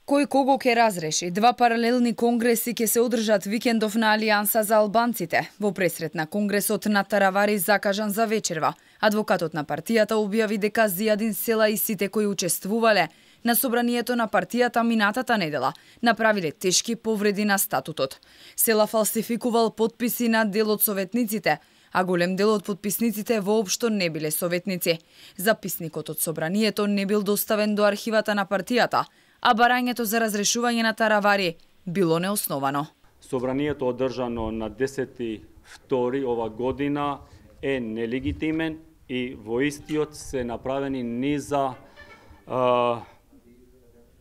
Кој кого ќе разреши? Два паралелни конгреси ќе се одржат викендов на Алијанса за албанците. Во пресрет на конгресот на Таравари закажан за вечерва, адвокатот на партијата објави дека Зијадин Села и сите кои учествувале на собранието на партијата минатата недела направиле тешки повреди на статутот. Села фалсификувал потписи на дел од советниците, а голем дел од потписниците воопшто не биле советници. Записникот од собранието не бил доставен до архивата на партијата, а барањето за разрешување на Таравари било неосновано. Собранието одржано на 10.2. ова година е нелегитимен и во истиот се направени низа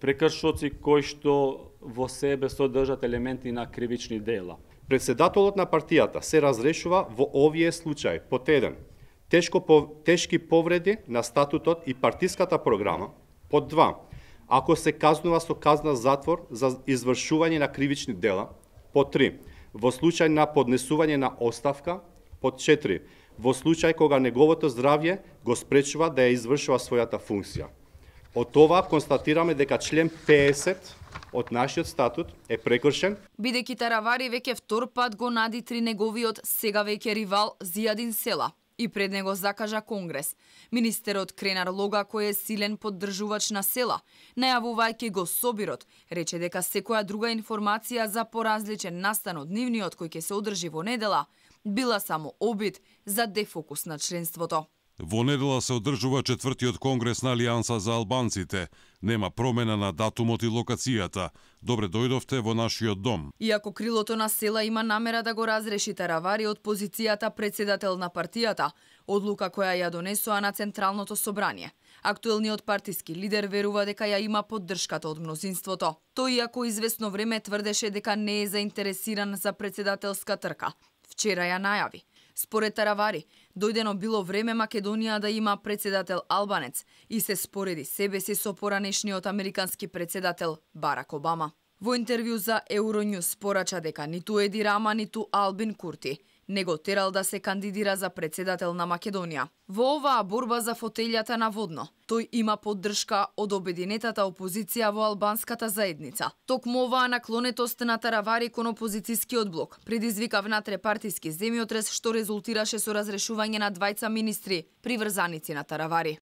прекршоци кои што во себе содржат елементи на кривични дела. Председателот на партијата се разрешува во овие случаи под 1. Тешки повреди на статутот и партиската програма, под 2. Ако се казнува со казна затвор за извршување на кривични дела, под 3. Во случај на поднесување на оставка, под 4. Во случај кога неговото здравје го спречува да ја извршува својата функција. Од това констатираме дека член 50 од нашиот статут е прекршен. Бидејќи Таравари веќе втор пат го надитри неговиот сега веќе ривал Зијадин Села и пред него закажа конгрес. Министерот Кренар Лога, кој е силен поддржувач на Села, најавувајќи го собирот, рече дека секоја друга информација за поразличен настан од нивниот кој ќе се одржи во недела, била само обид за дефокус на членството. Во недела се одржува 4-тиот конгрес на Алијанса за албанците. Нема промена на датумот и локацијата. Добре дојдовте во нашиот дом. Иако крилото на Села има намера да го разреши Таравари од позицијата председател на партијата, одлука која ја донесоа на Централното собрание. Актуелниот партиски лидер верува дека ја има поддршката од мнозинството. Тој, иако известно време тврдеше дека не е заинтересиран за председателска трка, вчера ја најави. Според Таравари, дојдено било време Македонија да има председател албанец и се спореди себе си со поранешниот американски председател Барак Обама. Во интервју за Euronews порача дека ниту Еди Рама, ниту Албин Курти не го терал да се кандидира за председател на Македонија. Во оваа борба за фотелјата наводно, тој има поддршка од обединетата опозиција во албанската заедница. Токму оваа наклонетост на Таравари кон опозицијскиот блок предизвика внатре-партиски земјотрес што резултираше со разрешување на двајца министри, приврзаници на Таравари.